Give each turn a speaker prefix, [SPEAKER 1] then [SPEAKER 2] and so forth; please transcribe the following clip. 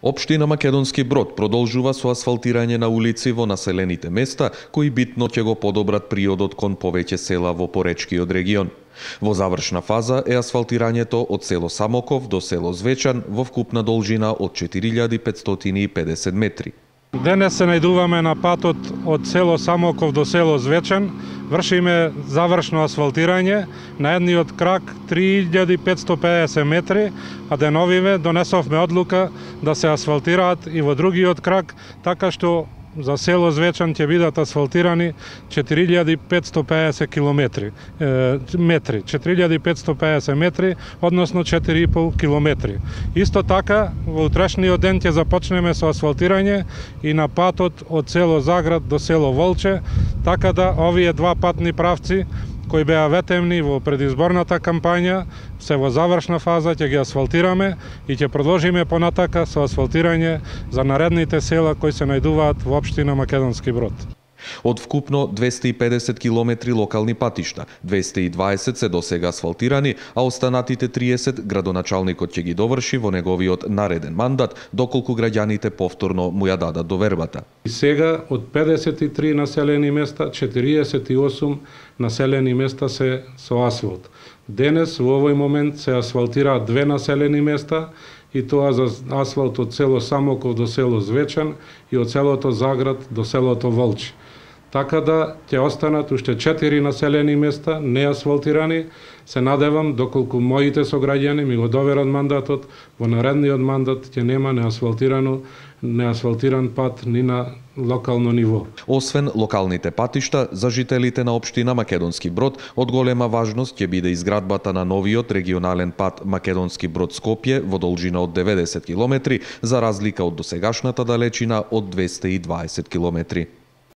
[SPEAKER 1] Општина Македонски Брод продолжува со асфалтирање на улици во населените места, кои битно ќе го подобрат приодот кон повеќе села во поречкиот регион. Во завршна фаза е асфалтирањето од село Самоков до село Звечан во вкупна должина од 4550 метри.
[SPEAKER 2] Денес се најдуваме на патот од село Самоков до село Звечан. Вршиме завршно асфалтирање на едниот крак 3550 метри, а деновиве донесовме одлука да се асфалтираат и во другиот крак, така што за село Звечан ќе бидат асфалтирани 4550 метри, 4550 метри, односно 4,5 километри. Исто така, во утрешниот ден ќе започнеме со асфалтирање и на патот од село Заград до село Волче, така да овие два патни правци кои беа ветемни во предизборната кампања, се во завршна фаза, ќе ги асфалтираме и ќе продолжиме понатака со асфалтирање за наредните села кои се најдуваат во општина Македонски Брод.
[SPEAKER 1] Од вкупно 250 километри локални патишта, 220 се досега асфалтирани, а останатите 30 градоначалникот ќе ги доврши во неговиот нареден мандат, доколку граѓаните повторно му ја дадат довербата.
[SPEAKER 2] И сега од 53 населени места, 48 населени места се со асфалт. Денес во овој момент се асфалтираат 2 населени места, и тоа за асфалт од село Самоков до село Звечан и од селото Заград до селото Волче. Така да ќе останат уште 4 населени места неасфалтирани. Се надевам, доколку моите сограѓани ми го доверат мандатот, во наредниот мандат ќе нема неасфалтиран пат ни на локално ниво.
[SPEAKER 1] Освен локалните патишта, за жителите на општина Македонски Брод од голема важност ќе биде изградбата на новиот регионален пат Македонски Брод-Скопје во должина од 90 километри, за разлика од досегашната далечина од 220 километри.